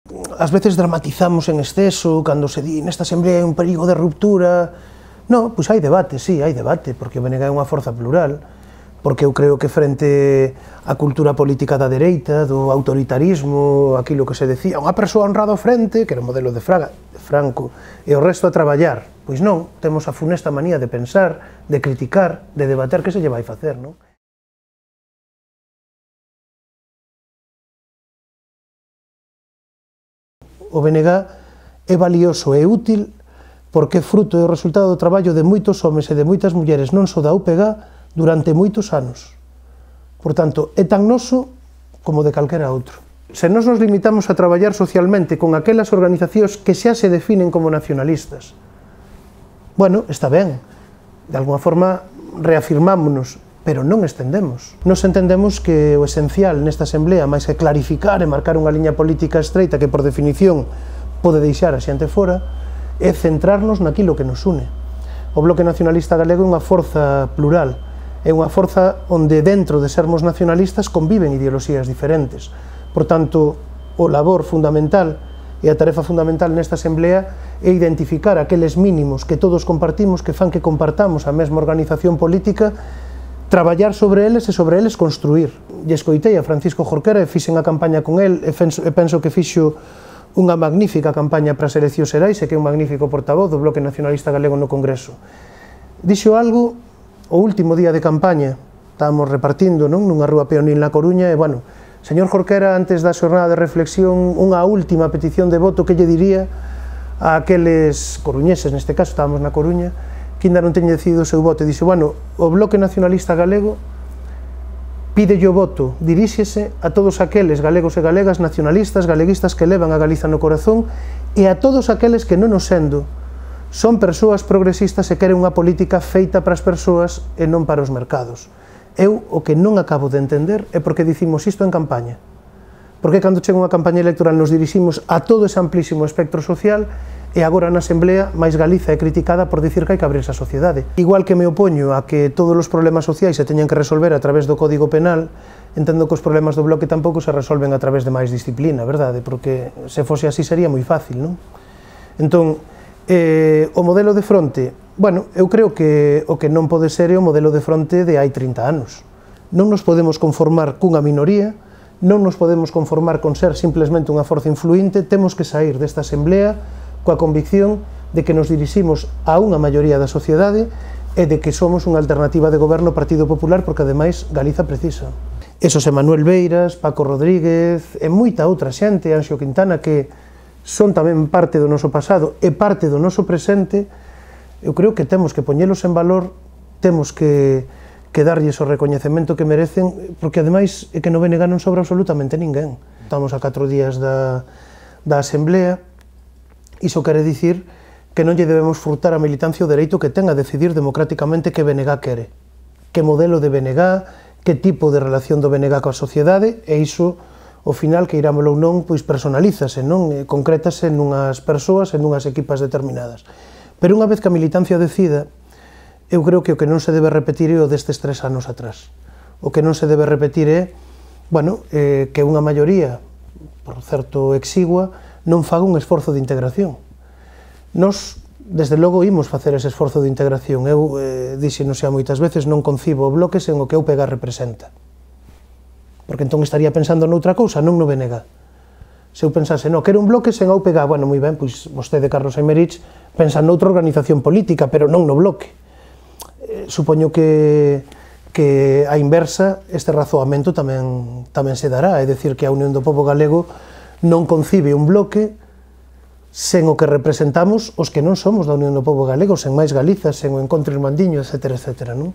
Ás veces dramatizamos en exceso, cando se di nesta asamblea hai un perigo de ruptura. Non, pois hai debate, sí, hai debate, porque o BNG é unha forza plural, porque eu creo que frente á cultura política da dereita, do autoritarismo, aquilo que se decía, unha persoa honrada ao frente, que era o modelo de Franco, e o resto a traballar. Pois non, temos a funesta manía de pensar, de criticar, de debater que se lle vai facer, non? O BNG é valioso e útil porque é fruto e o resultado do traballo de moitos homes e de moitas mulleres non só da UPG durante moitos anos. Por tanto, é tan noso como de calquera outro. Se nós nos limitamos a traballar socialmente con aquelas organizacións que xa se definen como nacionalistas, bueno, está ben, de alguna forma reafirmámonos, pero non estendemos. Nos entendemos que o esencial nesta asamblea, máis que clarificar e marcar unha liña política estreita que por definición pode deixar a xente fora, é centrarnos naquilo que nos une. O Bloque Nacionalista Galego é unha forza plural, é unha forza onde dentro de sermos nacionalistas conviven ideoloxías diferentes. Por tanto, o labor fundamental e a tarefa fundamental nesta asamblea é identificar aqueles mínimos que todos compartimos, que fan que compartamos a mesma organización política, traballar sobre eles e sobre eles construir. E escoitei a Francisco Jorquera e fixen a campaña con el e penso que fixo unha magnífica campaña para as eleccións xerais e que é un magnífico portavoz do Bloque Nacionalista Galego no Congreso. Dixo algo o último día de campaña, estábamos repartindo nunha rúa peonil na Coruña e, bueno, señor Jorquera, antes da xornada de reflexión, unha última petición de voto que lle diría a aqueles coruñeses, neste caso estábamos na Coruña, que ainda non teñen decidido o seu voto, e dixe, bueno, o Bloque Nacionalista Galego pídelle o voto, diríxese a todos aqueles galegos e galegas nacionalistas, galeguistas que levan a Galiza no corazón e a todos aqueles que non o sendo son persoas progresistas e queren unha política feita para as persoas e non para os mercados. Eu o que non acabo de entender é porque dicimos isto en campaña. Porque cando chega unha campaña electoral nos diriximos a todo ese amplísimo espectro social e agora na Asamblea máis Galiza é criticada por dicir que hai que abrirse a sociedade. Igual que me opoño a que todos os problemas sociais se teñan que resolver a través do Código Penal, entendo que os problemas do Bloque tampouco se resolven a través de máis disciplina, verdade? Porque se fose así sería moi fácil, non? Entón, o modelo de fronte, bueno, eu creo que o que non pode ser é o modelo de fronte de hai 30 anos. Non nos podemos conformar cunha minoría, non nos podemos conformar con ser simplemente unha forza influinte, temos que sair desta Asamblea coa convicción de que nos diriximos a unha maioría da sociedade e de que somos unha alternativa de goberno ao Partido Popular porque ademais Galiza precisa. Esos é Manuel Beiras, Paco Rodríguez e moita outra xente, Anxo Quintana, que son tamén parte do noso pasado e parte do noso presente. Eu creo que temos que poñelos en valor, temos que darlles o recoñecemento que merecen, porque ademais é que no BNG non sobra absolutamente ninguén. Estamos a 4 días da Asamblea. Iso quere dicir que non lle debemos furtar a militancia o dereito que ten a decidir democráticamente que BNG quere, que modelo de BNG, que tipo de relación do BNG coa sociedade, e iso, ao final, que irámolo ou non, pois personalízase, non? Concrétase nunhas persoas e nunhas equipas determinadas. Pero unha vez que a militancia decida, eu creo que o que non se debe repetir é o destes 3 anos atrás. O que non se debe repetir é, bueno, que unha maioría, por certo exigua, non faga un esforzo de integración. Nos, desde logo, imos facer ese esforzo de integración. Eu, dixenos xa moitas veces, non concibo o Bloque sen o que a UPG representa. Porque entón estaría pensando noutra cousa, non no BNG. Se eu pensase, non, quero un Bloque sen a UPG, bueno, moi ben, pois vostede, Carlos Aymerich, pensa noutra organización política, pero non no Bloque. Supoño que a inversa, este razoamento tamén se dará, é dicir, que a Unión do Pobo Galego non concibe un Bloque sen o que representamos os que non somos da Unión do Pobo Galego, sen máis Galiza, sen o Encontro Irmandiño, etc. Non?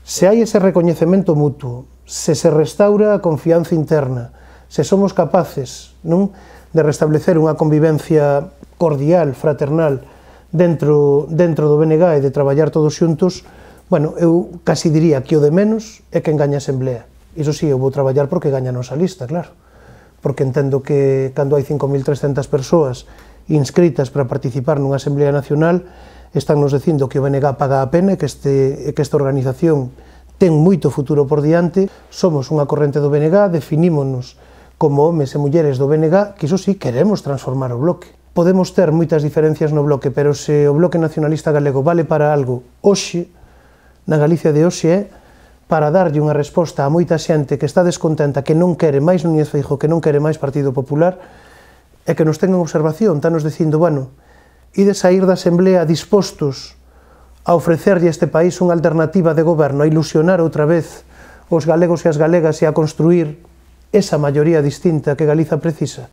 Se hai ese recoñecemento mutuo, se restaura a confianza interna, se somos capaces, non, de restablecer unha convivencia cordial, fraternal, dentro do BNG e de traballar todos xuntos, bueno, eu casi diría que o de menos é quen gaña a Asamblea. Iso sí, eu vou traballar porque gaña a nosa lista, claro. Porque entendo que cando hai 5.300 persoas inscritas para participar nunha Asamblea Nacional, están nos dicindo que o BNG paga a pena e que esta organización ten moito futuro por diante. Somos unha corrente do BNG, definímonos como homes e mulleres do BNG, que iso sí, queremos transformar o bloque. Podemos ter moitas diferencias no bloque, pero se o bloque nacionalista galego vale para algo hoxe, na Galicia de hoxe, é para darlle unha resposta a moita xente que está descontenta, que non quere máis Núñez Feijóo, que non quere máis Partido Popular, e que nos ten en observación, tanos dicindo, bueno, ides a ir da Asamblea dispostos a ofrecerlle a este país unha alternativa de goberno, a ilusionar outra vez os galegos e as galegas e a construir esa maioría distinta que Galiza precisa.